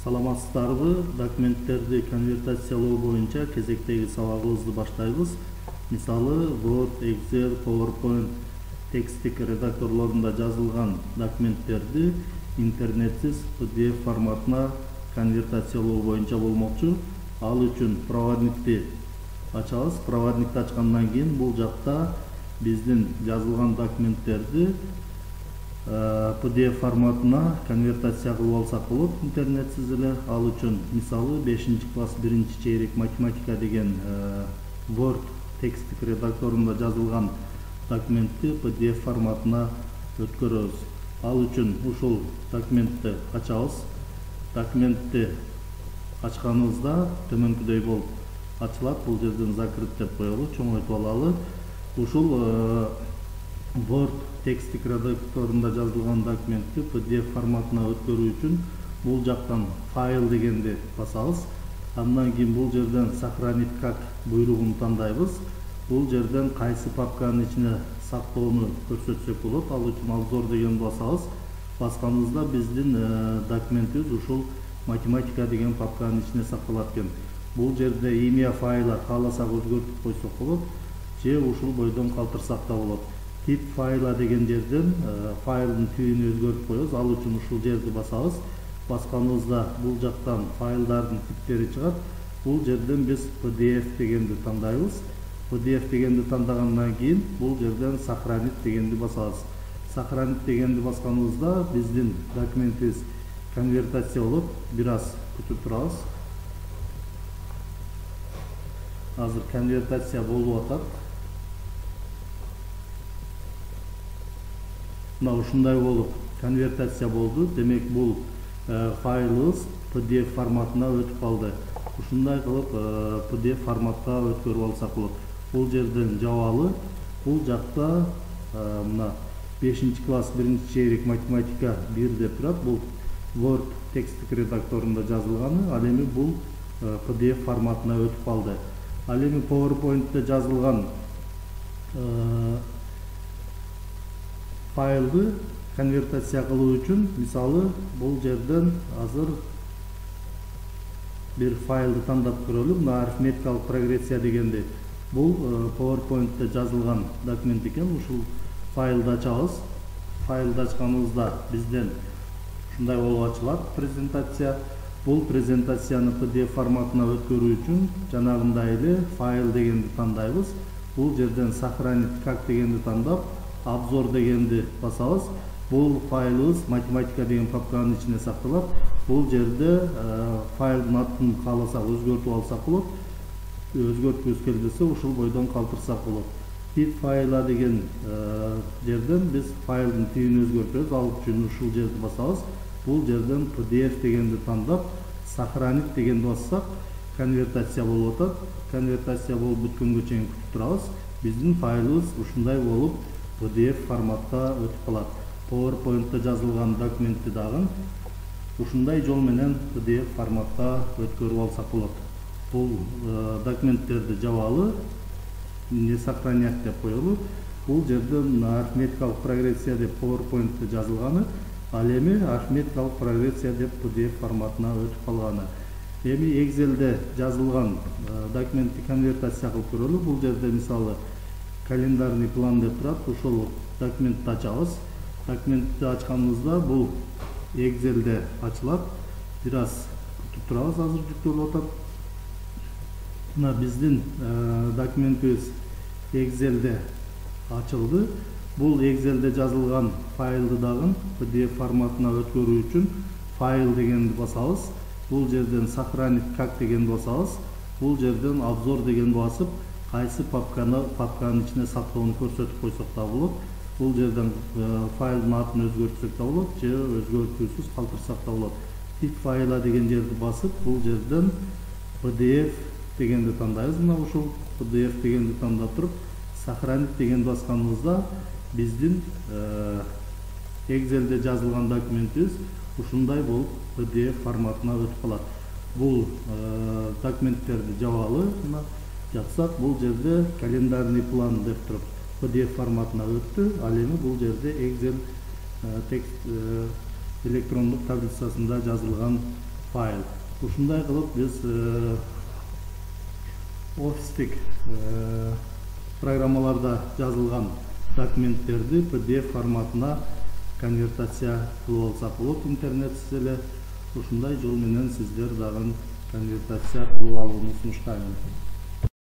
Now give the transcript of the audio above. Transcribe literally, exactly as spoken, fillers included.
Саламатсыздарбы? Документтерди конвертациялоо боюнча кезектеги сабагыбызды баштайбыз. Мисалы, Word, Excel, PowerPoint текстик редакторлорунда жазылган документтерди интернетсиз пи ди эф форматына конвертациялоо боюнча болмокчу. Ал үчүн проводникти ачабыз. Проводникти ачкандан кийин бул жакта биздин жазылган документтерди пи ди эф форматына конвертация кылып алсак болот интернетсиз эле. Ал үчүн мисалы бешинчи класс биринчи чейрек математика деген Word текстик редакторунда жазылган документти пи ди эф форматына өткөрөбүз. Ал үчүн ушул документти ачабыз. Документти ачканыбызда төмөнкүдөй болуп ачылат. Бул жерден закрыт деп коелу, чоңойтуп алалы. Ушул Word текстик редакторунда жазылган документти пи ди эф форматына өткөрүү үчүн бул жактан файл дегенди басабыз. Андан кийин бул жерден сохранить как буйругун тандайбыз. Бул жерден кайсы папканын ичине сактоону көрсөтсөк болот. Ал үчүн обзор дегенди басабыз. Басканыбызда биздин документибиз ушул математика деген папканын ичине сакталат экен. Бул жерде имя файла кааласак өзгөртүп койсок болот, же ушул бойдон калтырсак да болот. Тип файла деген жерден файлдын типин өзгөртүп коебуз. Ал үчүн ушул жерди басабыз. Басканыбызда бул жактан файлдардын типтери чыгат. Бул жерден биз пи ди эф дегенди тандайбыз. пи ди эф дегенди тандагандан кийин бул жерден сохранить дегенди басабыз. Сохранить дегенди басканыбызда биздин документибиз конвертация болот. Бир аз күтүп турабыз. Азыр конвертация болуп атат. Мына ушундай болуп конвертация болду. Демек бул файлыбыз пи ди эф форматына өтүп калды. Ушундай кылып пи ди эф форматка өткөрүп алсак болот. Бул жерден жабалы. Бул жакта мына бешинчи класс биринчи чейрек математика бир деп турат. Бул Word текстик редакторунда жазылганы. Ал эми бул пи ди эф форматына өтүп калды. Ал эми PowerPoint'те жазылган файлды конвертация кылуу үчүн мисалы бул жерден азыр бир файлды тандап көрөлү. Мына арифметикалык прогрессия дегенди. Бул PowerPoint'те жазылган документ экен. Ушул файлды ачабыз. Файлды ачканыбызда бизден ушундай болуп ачылат презентация. Бул презентацияны пи ди эф форматына өткөрүү үчүн жанагындай эле файл дегенди тандайбыз. Бул жерден сохранить как дегенди тандап, обзор дегенди басабыз. Бул файлыбыз математика деген папканын ичине сакталат. Бул жерде файлдын атын кааласак өзгөртүп алсак болот. Өзгөрткүбүз келбесе ушул бойдон калтырсак болот. Тип файла деген жерден биз файлдын типин өзгөртөбүз. Ал үчүн ушул жерди басабыз. Бул жерден пи ди эф дегенди тандап, сохранить дегенди бассак, конвертация болуп атат. Конвертация болуп бүткөнгө чейин күтүп турабыз. Биздин файлыбыз ушундай болуп пи ди эф форматка өтүп калат. PowerPoint'те жазылган документти дагы ушундай жол менен пи ди эф форматка өткөрүп алсак болот. Бул документтерди жабалы, не сохранять деп коелу. Бул жерден арифметикалык прогрессия деп PowerPoint'те жазылганы, ал эми арифметикалык прогрессия деп пи ди эф форматына өтүп калганы. Эми Excel'де жазылган документти конвертация кылып көрөлү. Бул жерде мисалы календарный план деп турат. Ушул документти ачабыз. Документти ачканыбызда бул Excel'де ачылат. Бир аз күтүп турабыз, азыр жүктөлүп атат. Мына биздин документибиз Excel'де ачылды. Бул Excel'де жазылган файлды дагы пи ди эф форматына өткөрүү үчүн файл дегенди басабыз. Бул жерден сохранить как дегенди басабыз. Бул жерден обзор дегенди басып, кайсы папканы папканын ичине сактоону көрсөтүп койсок да болот. Бул жерден файлдын атын өзгөртсөк да болот, же өзгөртүүсүз калтырсак да болот. Тип файла деген жерди басып, бул жерден пи ди эф дегенди тандайбыз. Мына ушул пи ди эф дегенди тандап туруп, сохранить дегенди басканыбызда биздин Excel'де жазылган документибиз ушундай болуп пи ди эф форматына өтүп калат. Бул документтерди жабалы. Мына жапсак, бул жерде календарный план деп туруп пи ди эф форматына өттү. Ал эми бул жерде Excel текст электрондук таблицасында жазылган файл. Ушундай кылып биз офистик программаларда жазылган документтерди пи ди эф форматына конвертация кылып алсак болот. Интернетсиз эле ушундай жол менен сиздер дагы конвертация кылып алууну сунуштайм.